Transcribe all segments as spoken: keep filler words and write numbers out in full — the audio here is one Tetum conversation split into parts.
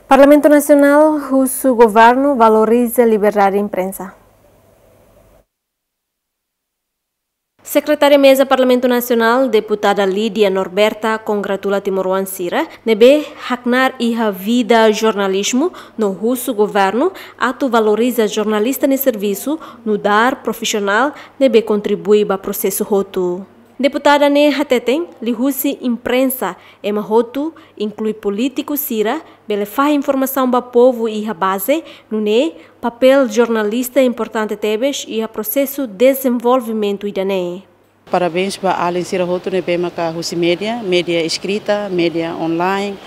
Parlamentu Nasionál husu governu valoriza liberdade imprensa. Sekretária Meza Parlamentu Nasionál, Deputada Lídia Norberta, kongratula timoroan sira ne'ebé haknaar iha vida jornalizmu no husu governu atu valoriza jornalista nia servisu nu'udar profisionál ne'ebé kontribui ba prosesu hotu. Deputada ne'e hateten, liuhusi imprensa, ema hotu, inklui polítiku sira, bele fahe informasaun ba povu iha baze, nune'e papél jornalista importante tebes iha prosesu dezenvolvimentu ida-ne'e. Parabéns ba alin sira hotu ne'ebé maka husi média, média eskrita, média online,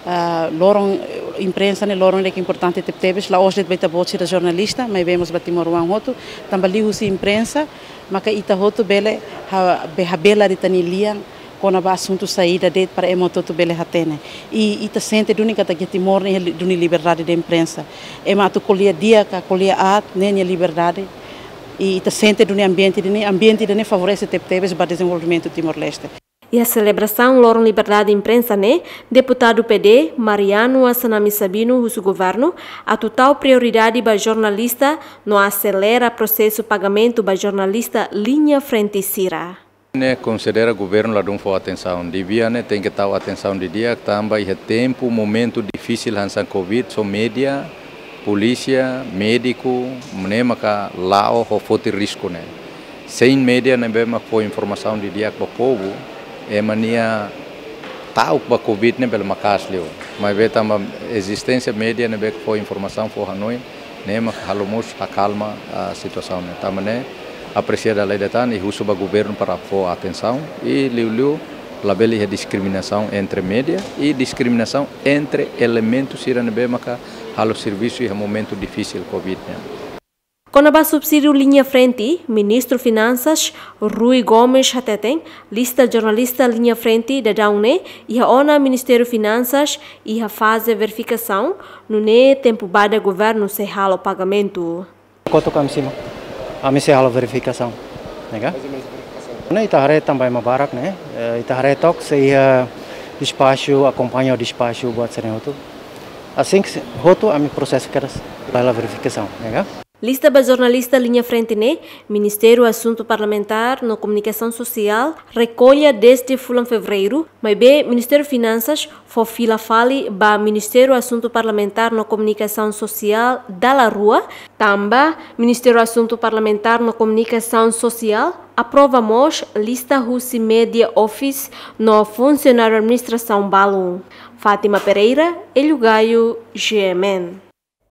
ah, loron, eh, imprensa ne'e loron ne'ebé importante tebetebes, la'ós de'it ba ita-boot sira jornalista, maibé mós ba timoroan hotu, tanba liuhusi imprensa, maka ita hotu bele ha-, be-, habela ita-nia lian kona-ba asuntu saida de'it para ema hotu bele hatene. I ita sente duni katak iha Timor ne'e iha li-, duni liberdade de imprensa. Ema atu ko'alia di'ak ka ko'alia aat ne'e nia liberdade. I ita sente duni ambiente ida-ne'e, ambiente ida-ne'e favorese tebetebes ba dezenvolvimentu Timor-Leste. Iha selebrasaun Loron Liberdade Imprensa ne'e, Deputadu P D, Mariano Assanami Sabino husu governu atu tau prioridade ba jornalista no aselera prosesu pagamentu ba jornalista liña frente sira. Ne'e konsidera governu ladún fó atensaun. Devia ne'e tenke tau atensaun didi'ak tanba iha tempu, momentu difisil hanesan covid, só média, polísia, médiku, ne'e maka la'o ho foti risku ne'e. Sein média ne'ebé mak fó informasaun didi'ak ba povu, ema nia ta'uk ba covid ne'e bele maka'as liu. Maibé tanba ezisténsia média ne'ebé fó informasaun, fó hanoin, ne'e mak halo mós hakalma, ah, situasaun ne'e. Tanba ne'e apresia dala ida tan i husu ba governu para fó atensaun i liuliu labele iha diskriminasaun entre média i diskriminasaun entre elementu sira ne'ebé maka halo servisu iha momentu difisil covid ne'e. Kona-ba subsídiu liña frente, Ministru Finansas, Rui Gomes hateten, lista jornalista liña frente daudaun ne'e iha ona Ministériu Finansas iha faze verifikasaun, nune'e tempu badak governu sei halo pagamentu. Kotuk ami simu, ami sei halo verifikasaun, ne'e ka? Ne'e ita haree tanba ema barak ne'e, eh, ita haree took sei iha despaxu, akompaña despaxu buat sira-ne'e hotu. Asin ke hotu ami prosesu kedas ba halo verifikasaun, ne'e ka? Lista ba jornalista liña frente ne'e, Ministériu Asuntu Parlamentár no Komunikasaun Sosiál rekolla dezde fulan Fevereiru, maibé Ministériu Finansas fó fila fali ba Ministériu Asuntu Parlamentár no Komunikasaun Sosiál dala rua, tanba Ministériu Asuntu Parlamentár no Komunikasaun Sosiál aprova mós lista husi média office no funsionáriu administrasaun balun. Fátima Pereira, Hélio Gaio, G M N.